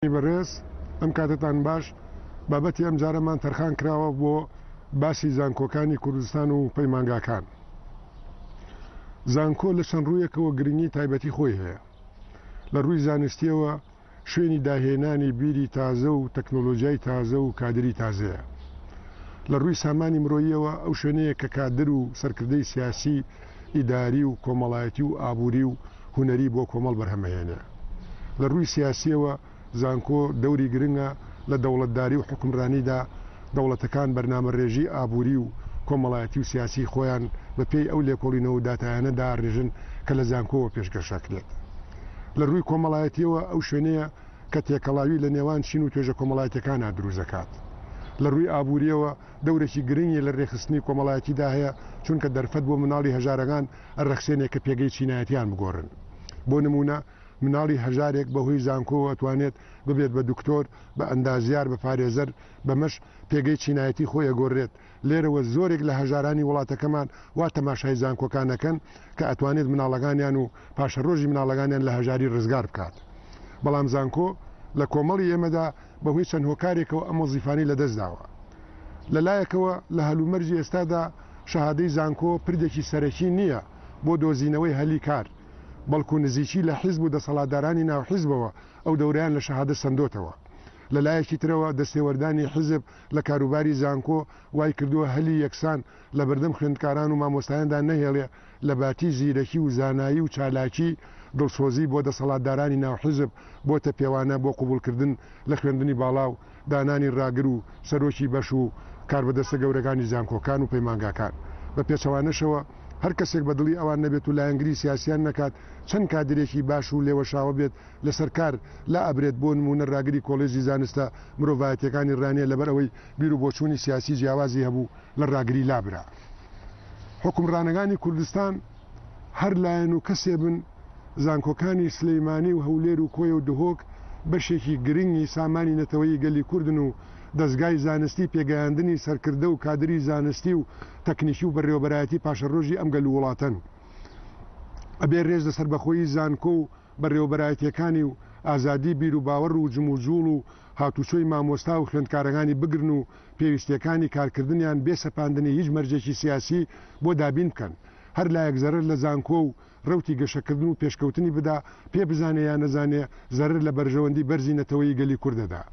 بەڕێز ئەم کاتەتان باش، بابەتی ئەمجارەمان تەرخان کراوە بۆ باسی زانکۆکانی کوردستان و پەیمانگاکان. زانکۆ لە چەند ڕوویەکەوە گرنگی تایبەتی خۆی هەیە. لە ڕووی زانستیەوە شوێنی داهێنانی بیری تازە و تەکنۆلۆجیای تازە و کادری تازەیە. لە ڕووی سامانی مرۆییەوە ئەو شوێنەیە کە کادر و سەرکردەی سیاسی، ئیداری و کۆمەڵایەتی و ئابووری و هونەری بۆ کۆمەڵ بەرهەمەهێنێ. لە ڕووی سیاسییەوە زانکۆ دەوری گرنگە لە دەوڵەتداری و حوکمرانیدا، دەوڵەتەکان بەرنامەڕێژی ئابووری و کۆمەڵایەتی و سیاسیی خۆیان بە پێی ئەو لێکۆڵینەوە و داتایانە دائەڕێژن کە لە زانکۆوە پێشکەش ئەکرێت. لە ڕووی کۆمەڵایەتییەوە ئەو شوێنەیە کە تێکەڵاوی لە نێوان چین و توێژە کۆمەڵایەتییەکانا دروست دەکات. لە ڕووی ئابوورییەوە دەورێکی گرنگی لە رێکخستنی کۆمەڵایەتیدا هەیە، چونکە دەرفەت بۆ مناڵی هەژارەکان ئەرەخسێنێ کە پێگەی چینایەتیان بگۆرن. بۆ نموونە مناڵی هەژارێک بە هۆی زانکۆوە ئەتوانێت ببێت بە دکتۆر، بە ئەندازیار، بە پارێزەر، بەمەش پێگەی چینایەتی خۆی ئەگۆرێت. لێرەوە زۆرێک لە هەژارانی وڵاتەکەمان وا تەماشای زانکۆکان ئەکەن کە ئەتوانێت مناڵەکانیان و پاشەڕۆژی مناڵەکانیان لە هەژاری رزگار بکات. بەڵام زانکۆ لە کۆمەڵی ئێمەدا بەهۆی چەند هۆکارێکەوە ئەم وەزیفانەی لەدەستداوە. لە لایەکەوە لە هەلومەرجی ئێستادا شەهادەی زانکۆ پردێکی سەرەکی نییە بۆ دۆزینەوەی هەلی کار، بەڵکو نزیکی لە حیزب و دەسەڵاتدارانی ناو حیزبەوە ئەو دەورەیان لە شەهادە سەندۆتەوە. لە لایەکی ترەوە دەستێوەردانی حیزب لە کاروباری زانکۆ وای کردووە هەلی یەکسان لەبەردەم خوێندکاران و مامۆستایاندا نەهێڵێ لەباتی زیرەکی و زانایی و چالاکی، دڵسۆزی بۆ دەسەڵاتدارانی ناو حیزب بۆتە پێوانە بۆ قبوڵکردن لە خوێندنی باڵا و دانانی ڕاگر و سەرۆکی بەش و کاربەدەستە گەورەکانی زانکۆکان و پەیمانگاکان. بە پێچەوانەشەوە هەر کەسێک بە دڵی ئەوان نەبێت و لایەنگری سیاسیان نەکات چەند کادرێکی باش و لێوەشاوە بێت لەسەر کار لائەبرێت بۆ نموونە ڕاگری کۆڵێجی زانستە مرۆڤایەتیەکانی ڕانیە لەبەر ئەوەی بیروبۆچوونی سیاسی جیاوازی هەبوو لە ڕاگری لابرا. حوکمڕانەکانی کوردستان هەر لایەن و کەسێ بن، زانکۆکانی سلیمانی و هەولێر و کۆیە و دهۆک بەشێکی گرنگی سامانی نەتەوەیی گەلی کوردن و دەزگای زانستی پێگەیاندنی سەرکردە و کادری زانستی و تەکنیکی و بەڕێوەبەرایەتی پاشەڕۆژی ئەم گەل و وڵاتەن. ئەبێ رێز لە سەربەخۆیی زانکۆ و بەڕێوەبەرایەتیەکانی و ئازادی بیروباوەڕ و جموجوڵ و هاتوچۆی مامۆستا و خوێندکارەکانی بگرن و پێویستیەکانی کارکردنیان بێ سەپاندنی هیچ مەرجێکی سیاسی بۆ دابین بکەن. هەر لایەک زەرەر لە زانکۆ و رەوتی گەشەکردن و پێشکەوتنی بدا، پێ بزانێ یا نەزانێ زەرەر لە بەرژەوەندی بەرزی نەتەوەیی گەلی کورد دەدا.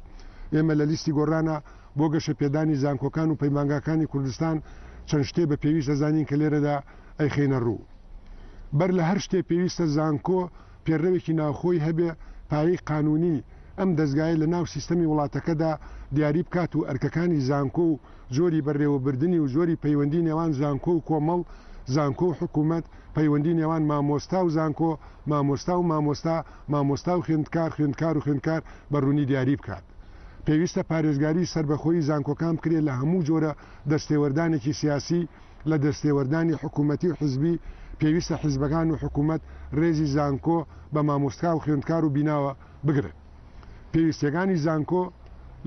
ئێمە لە لیستی گۆڕانا بۆ گەشەپێدانی زانکۆکان و پەیمانگاکانی کوردستان چەند شتێ بە پێویست دەزانین کە لێرەدا ئەیخەینە روو. بەر لە هەر شتێ پێویستە زانکۆ پێڕەوێکی ناوخۆی هەبێ پایەی قانوونی ئەم دەزگایە لە ناو سیستەمی وڵاتەکەدا دیاری بکات و ئەرکەکانی زانکۆ و جۆری بەڕێوەبردنی و جۆری پەیوەندی نێوان زانکۆ و کۆمەڵ، زانکۆ و حکوومەت، پەیوەندی نێوان مامۆستا و زانکۆ، مامۆستا و مامۆستا، مامۆستا و خوێندکار، خوێندکار و خوێندکار بە ڕوونی دیاری بکات. پێویستە پارێزگاری سەربەخۆیی زانکۆکان بکرێت لە هەموو جۆرە دەستێوەردانێکی سیاسی، لە دەستێوەردانی حکوومەتی و حزبی، پێویستە حزبەکان و حکوومەت ڕێزی زانکۆ بە مامۆستا و خوێندکار و بیناوە بگرن. پێویستیەکانی زانکۆ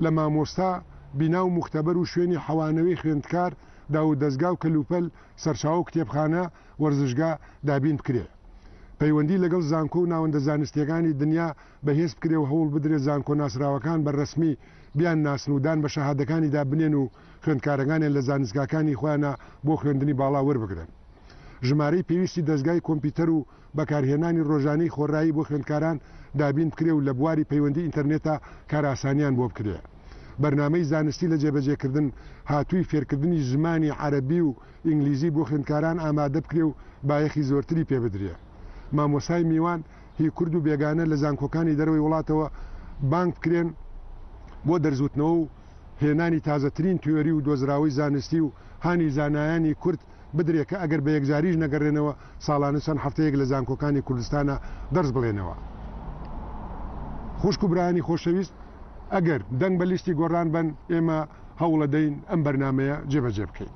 لە مامۆستا، بینا و موختەبەر و شوێنی حەوانەوەی خوێندکار، داوودەزگا و کەلوپەل، سەرچاوە و کتێبخانە، وەرزشگا دابین بکرێ. پەیوەندی لەگەڵ زانکۆ و ناوەندە زانستیەکانی دنیا بەهێز بکرێ و هەوڵ بدرێ زانکۆ ناسراوەکان بە رەسمی بیانناسن و دان بە شەهادەکانیدا بنێن و خوێندکارەکانیان لە زانستگاکانی خۆیانا بۆ خوێندنی باڵا وەربگرن. ژمارەی پێویستی دەزگای کۆمپیوتەر و بەکارهێنانی ڕۆژانەی خۆڕایی بۆ خوێندکاران دابین بکرێ و لە بواری پەیوەندی ئینتەرنێتا کارئاسانیان بۆ بکرێ. بەرنامەی زانستی لە جێبەجێکردن هاتووی فێرکردنی زمانی عەرەبی و ئینگلیزی بۆ خوێندکاران ئامادە بکرێ و بایەخی زۆرتری پێ بدرێ. مامۆستای میوان هی کورد و بێگانە لە زانکۆکانی دەرەوەی وڵاتەوە بانگ بکرێن بۆ دەرزوتنەوە و هێنانی تازەترین تیۆری و دۆزراوەی زانستی و هانی زانایانی کورد بدرێ کە ئەگەر بە یەکجاریش نەگەڕێنەوە ساڵانە چەند هەفتەیەک لە زانکۆکانی کوردستانا دەرس بڵێنەوە. خوشک و برایانی خۆشەویست ئەگەر دەنگ بە لیستی گۆڕان بەن ئێمە هەوڵەدەین ئەم بەرنامەیە جێبەجێ بکەین.